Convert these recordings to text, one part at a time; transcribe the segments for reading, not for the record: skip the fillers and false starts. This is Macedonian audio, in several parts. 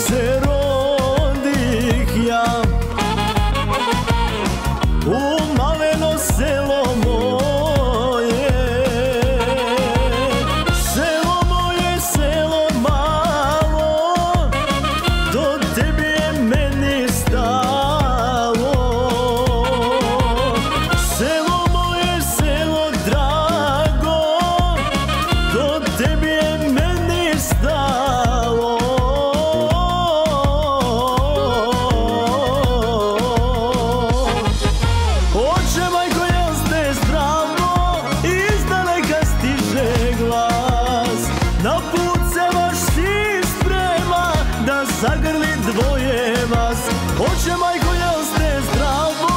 се родих ја у малено село моје, село мало, до тебе е мени стало. Село моје, село драго, до тебе е мени стало. Оче мајко, јас те здраво, издалека стиже глас, на пут се ваш си спрема да загрли двоje вас. Оче мајко, јас те здраво,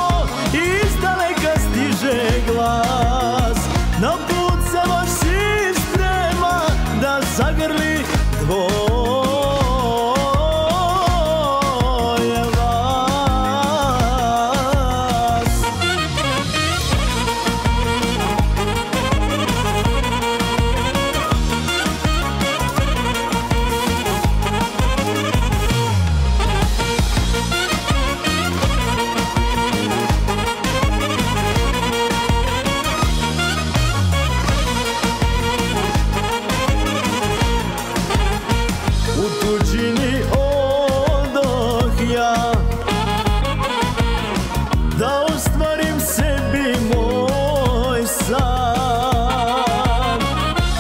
издалека стиже глас, на пут се ваш си спрема да загрли двоje вас. У туđini odoh ja da ostvarim sebi moj san.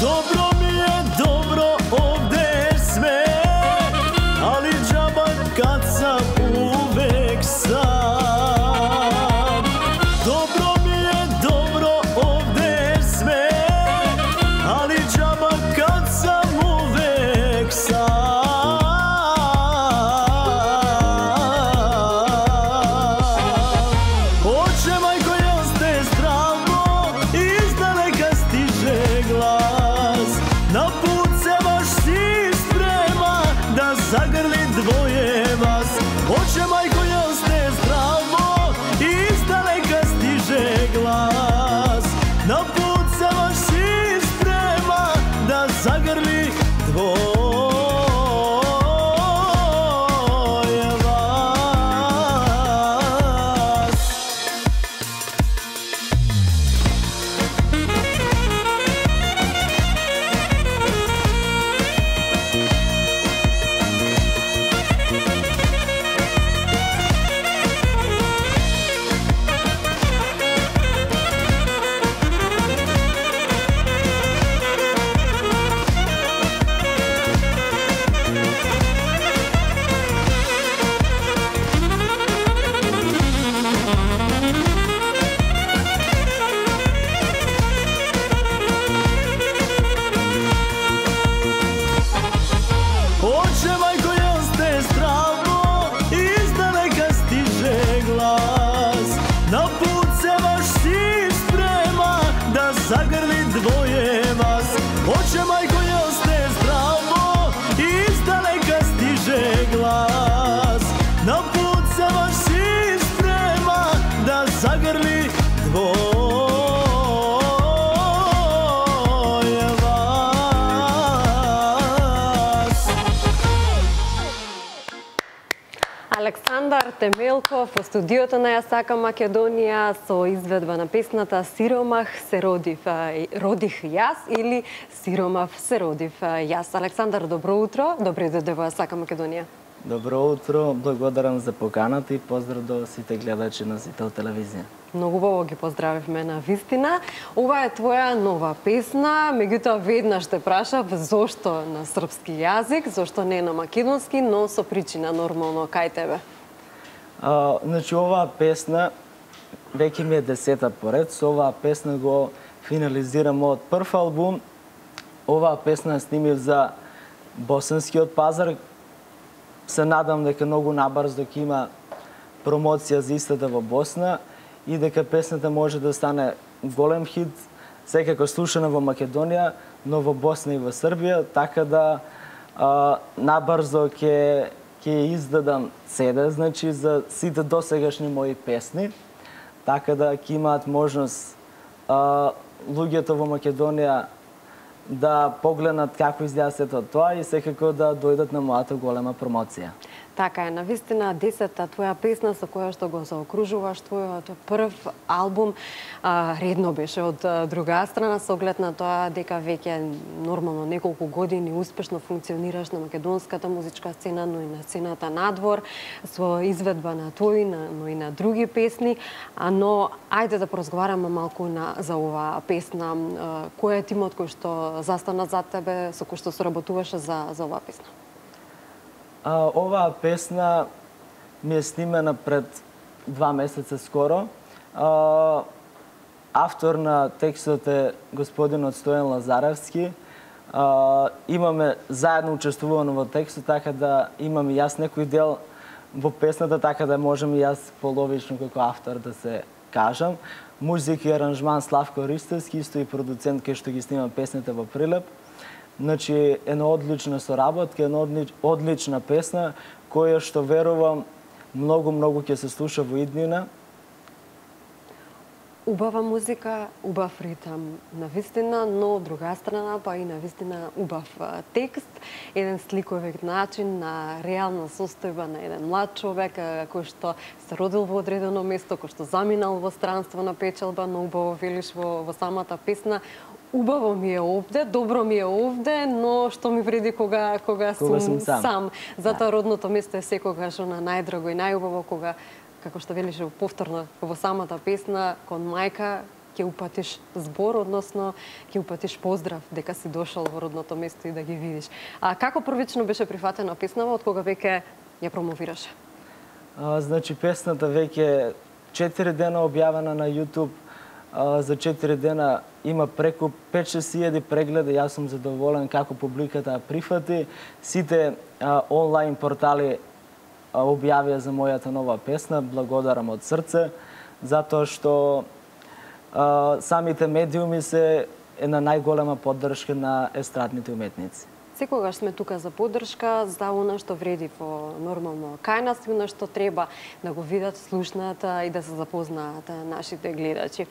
Dobro mi je, dobro ovde sve, ali džaba kad sam uvek sam. Dobro mi je, dobro ovde sve, ali džaba kad sam uvek sam. Oče majko, јас те здраво, издалека стиже глас, на пут се ваш си спрема да загрли двоje вас. Oče majko, јас те здраво, издалека стиже глас, на пут се ваш си спрема да загрли двоje вас. Oče majko, јас те здраво, издалека стиже глас, на пут се ваш си спрема да загрли двоje вас. Oče majko, јас те здраво, издалека стиже глас, на пут се ваш си спрема да загрли двоje вас. Александар Темелков во студиото на Ја сакам Македонија со изведба на песната Сиромах се родих јас или Сиромав се родив јас. Александар, добро утро, добре дојде во Ја сакам Македонија. Добро утро, благодарам за поканата и поздрав до сите гледачи на Зител телевизија. Многу убаво ги поздравивме на вистина. Ова е твоја нова песна, меѓутоа веднаш те прашав зошто на српски јазик, зошто не на македонски, но со причина нормално кај тебе. Значи, оваа песна веќе ми е 10-та поред. Со оваа песна го финализирам од прв албум. Оваа песна снимив за босанскиот пазар. Се надам дека многу набрзо ќе има промоција за истата во Босна и дека песната може да стане голем хит, секако слушана во Македонија, но во Босна и во Србија, така да набрзо ќе издадам CD, значи за сите досегашни мои песни, така да ќе имаат можност луѓето во Македонија да погледнат како изгледа сето тоа и секако да дојдат на мојата голема промоција. Така е, навистина 10-та твоја песна со која што го заокружуваш твојот прв албум редно беше од друга страна со оглед на тоа дека веќе нормално неколку години успешно функционираш на македонската музичка сцена, но и на сцената надвор со изведба на твои, но и на други песни, но ајде да поразговараме малку за оваа песна. Кој е тимот кој што застана зад тебе, со кој што соработуваше за оваа песна? Оваа песна ми е снимена пред 2 месеца скоро. Автор на текстот е господинот Стојан Лазаревски. Имаме заедно учествувано во текстот, така да имам и јас некој дел во песната, така да можем и јас половично како автор да се кажам. Музика и аранжман Славко Ристевски, исто и продуцент кој што ги снима песните во Прилеп. Значи, една одлична соработка, една одлична песна, која што верувам многу ќе се слуша во иднина. Убава музика, убав ритам, навистина, но од друга страна па и навистина убав текст, еден сликовит начин на реална состојба на еден млад човек кој што се родил во одредено место, кој што заминал во странство на печалба, но убаво велиш во самата песна. Убаво ми е овде, добро ми е овде, но што ми вреди кога сум сам. Затоа родното место е секогаш она најдраго и најубаво кога, како што велиш повторно во самата песна, кон мајка ќе упатиш збор, односно ќе упатиш поздрав дека си дошол во родното место и да ги видиш. Како првично беше прифатена песнава, од кога веќе ја промовираше? Значи, песната веќе 4 дена објавена на YouTube. За 4 дена има преку 5-6 прегледи, јас сум задоволен како публиката ја прифати. Сите онлайн портали објавија за мојата нова песна, благодарам од срце, затоа што самите медиуми се една најголема поддршка на естрадните уметници. Секогаш сме тука за поддршка, за она што вреди во нормално кај нас и она што треба да го видат, слушнат и да се запознаат нашите гледачи.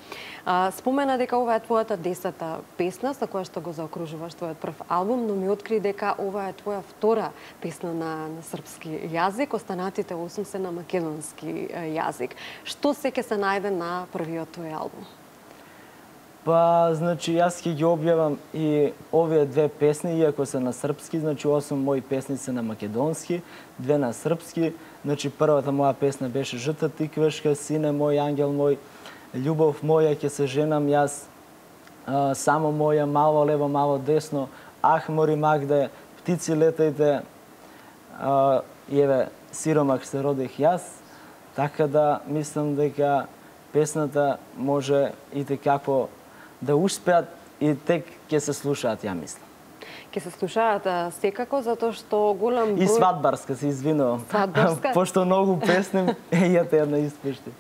Спомена дека ова е твојата 10-та песна со која што го заокружуваш твојот прв албум, но ми откри дека ова е твоја втора песна на српски јазик, останатите 8 се на македонски јазик. Што се ќе се најде на првиот твој албум? Па, значи, јас ќе ги објавам и овие 2 песни, иако се на српски, значи 8 мои песни се на македонски, 2 на српски. Значи, првата моја песна беше Жта тиквешка, Сине мој, Ангел мој, Љубов моја, ќе се женам јас, Само моја, Мало лево, мало десно, Ах, мори Магде, Птици летајте, и еве, Сиромах се родих јас. Така да, мислам дека песната може и како да успеат и тек ќе се слушаат, ја мислам. Ќе се слушаат секако, затоа што голем број... И свадбарска, се извинувам. Свадбарска? Пошто многу песни јате една испушти.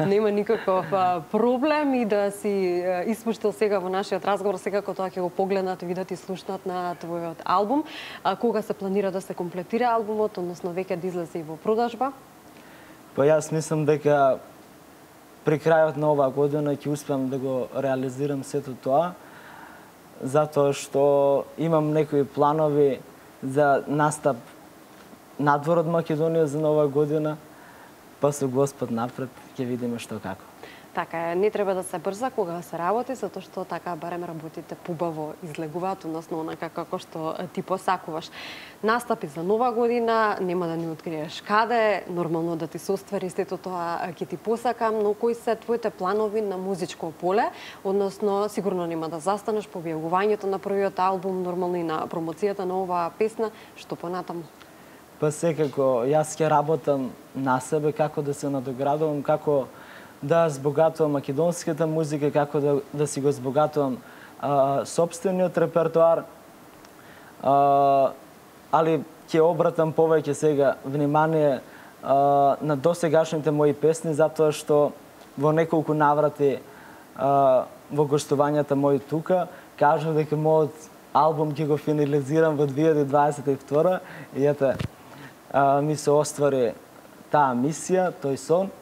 Нема никаков проблем и да си испуштил сега во нашиот разговор, секако тоа ќе го погледнат и видат и слушнат на твојот албум. Кога се планира да се комплетира албумот, односно веќе да излезе и во продажба? Па јас мислам дека при крајот на оваа година ќе успеам да го реализирам сето тоа, затоа што имам некои планови за настап надвор од Македонија за нова година, па со Господ напред ќе видиме што како. Така е, не треба да се брза кога се работи, затоа што така барем работите побаво излегуваат, односно онака како што ти посакуваш. Настапи за нова година, нема да ни откриеш каде, нормално да ти се оствари сето тоа ќе ти посакам, но кои се твоите планови на музичко поле, односно сигурно нема да застанеш по објавувањето на првиот албум, нормално и на промоцијата на оваа песна, што понатаму? Па секако, јас ќе работам на себе, како да се надоградувам, како да збогатувам македонската музика, како да си го збогатувам сопствениот репертоар, али ќе обратам повеќе сега внимание на досегашните мои песни, затоа што во неколку наврати во гостувањата мои тука кажав дека мојот албум ќе го финализирам во 2022 и ете ми се оствари таа мисија, тој сон.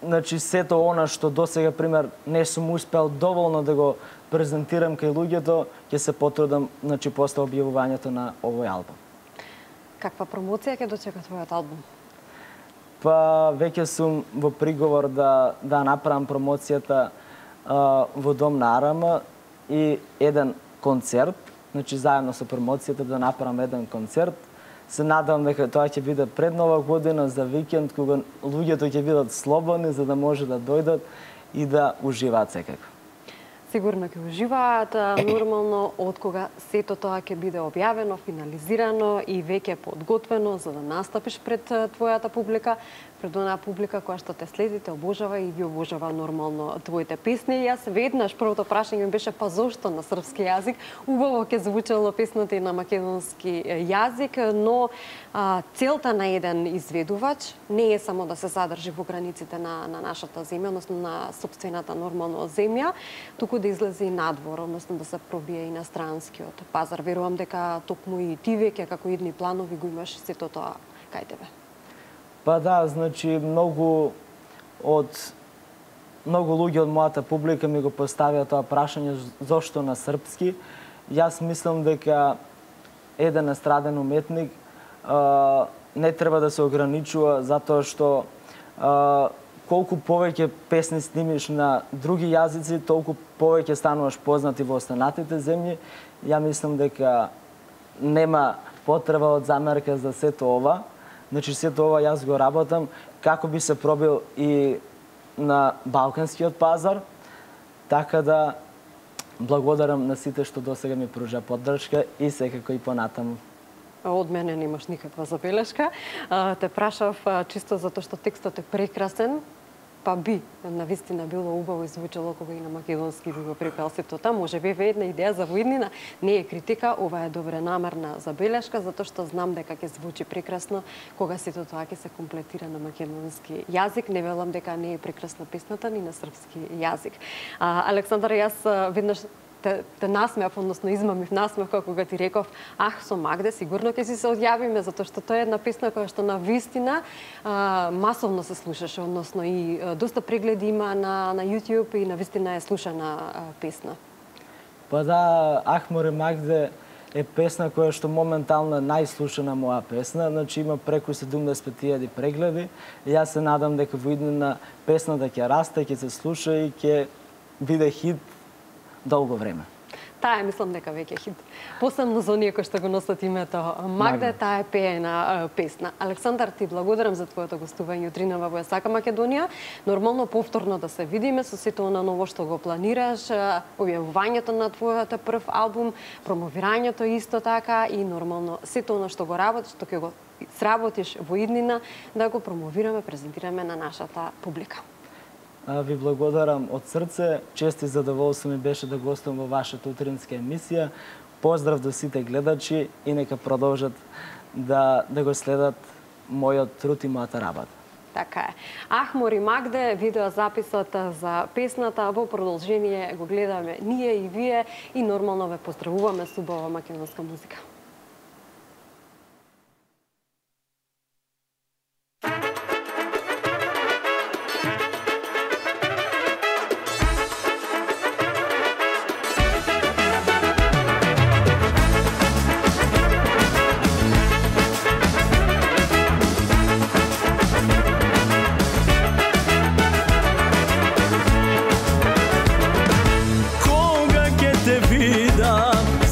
значи сето она што досега пример не сум успел доволно да го презентирам кај луѓето, ќе се потрудам значи после објавувањето на овој албум. Каква промоција ќе дочека твојот албум? Па веќе сум во приговор да направам промоцијата во Дом на АРМ и еден концерт, значи заедно со промоцијата да направам еден концерт. Се надевам дека тоа ќе биде пред Нова година за викенд, кога луѓето ќе бидат слободни за да може да дојдат и да уживаат секако. Сигурно ќе уживаат, нормално од кога сето тоа ќе биде објавено, финализирано и веќе подготвено за да настапиш пред твојата публика, пред онаа публика која што те следи, те обожава и ги обожава нормално твоите песни. Јас веднаш првото прашање ми беше па зошто на српски јазик? Убаво ќе звучело песната и на македонски јазик, но целта на еден изведувач не е само да се задржи во границите на нашата земја, односно на сопствената нормално земја, туку да излезе и надвор, односно да се пробие и на странскиот пазар. Верувам дека токму и ти веќе како идни планови го имаш сето тоа кај тебе. Па да, значи многу луѓе од мојата публика ми го поставија тоа прашање зошто на српски. Јас мислам дека еден естраден уметник не треба да се ограничува затоа што колку повеќе песни снимиш на други јазици, толку повеќе стануваш познати во останатите земји. Ја мислам дека нема потреба од замерка за сето ова. Значи сето ова јас го работам како би се пробил и на балканскиот пазар, така да благодарам на сите што досега ми пружа поддршка и секако и понатаму. Од мене немаш никаква забелешка. Те прашав чисто затоа што текстот е прекрасен, па би навистина било убаво и звучело кога и на македонски би го припел сето тоа. Може би една идеја за воиднина, не е критика, ова е добронамерна забелешка, затоа што знам дека ќе звучи прекрасно кога сето тоа ќе се комплетира на македонски јазик. Не велам дека не е прекрасна песната ни на српски јазик. Александар, јас веднаш те насмеав, односно измамив насмеав кога ти реков ах, со Магде сигурно ќе си се одјавиме, затоа што тоа е една песна која што на вистина масовно се слушаше, односно и доста прегледи има на YouTube и на вистина е слушана песна. Па да, Ах, море Магде е песна која што моментално е најслушана моја песна, значи има преку 70.000 прегледи. Јас се надам дека во иднина песната ќе расте, ќе се слуша и ќе биде хит долго време. Таа мислам дека веќе хит. Посебно за оние кои што го носат името Магда, таа е пеена песна. Александар, ти благодарам за твоето гостување утринава во Сака Македонија. Нормално повторно да се видиме со сето она ново што го планираш, објавувањето на твојот прв албум, промовирањето исто така и нормално сето она што го работиш, што ќе го сработиш во иднина, да го промовираме, презентираме на нашата публика. Ви благодарам од срце. Чест и задоволство ми беше да гостувам во вашата утринска емисија. Поздрав до сите гледачи и нека продолжат да го следат мојот труд и мојата работа. Така е. Ах, море Магде, видеозаписот за песната во продолжение го гледаме ние и вие и нормално ве поздравуваме со убава македонска музика.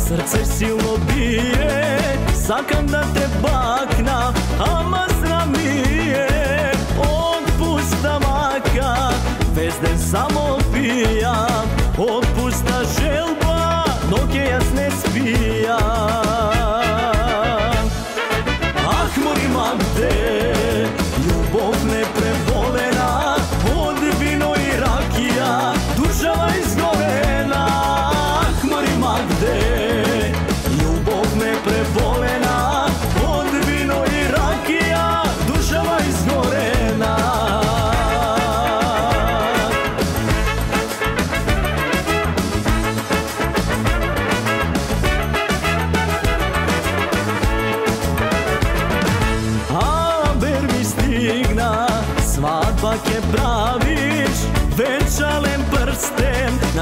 Срце силно бие, сакам да те бакна, ама срам ми е. Отпуста мака, вез ден само пијам, отпуста желба, но ке јас не спијам. Ах, море Магде, љубов непреболена, од вино и ракија, душава изгорена. Ах, море Магде, љубов непреболена, од вино и ракија, душава изгорена.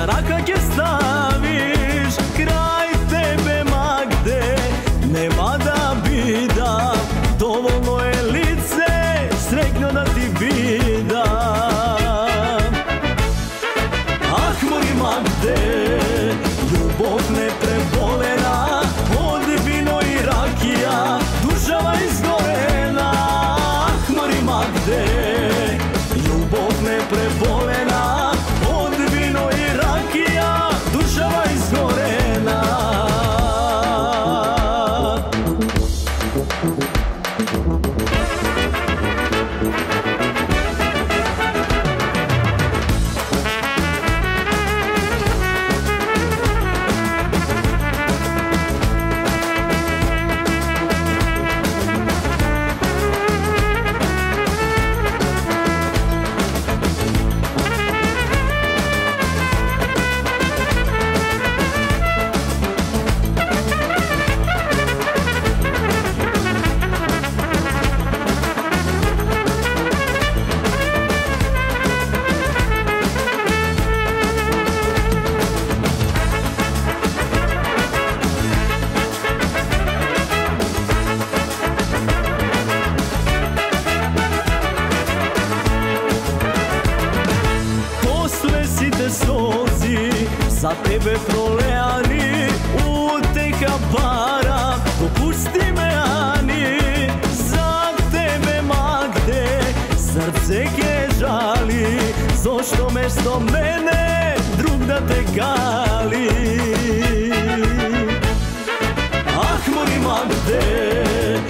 на рака ќе ставиш, крај тебе Магде нема да бидам, доволно е лице среќно да ти видам. Ах, мој Магде, љубов не преболена од вино и ракија, душава изгорена. Ах, мој Магде, љубов не преболена од вино и ракија, душава изгорена. За тебе пролеани, утеха пара, допусти ме Ани. За тебе Магде, срце ке жали, зошто место мене друг да те кали. Ах, мој Магде,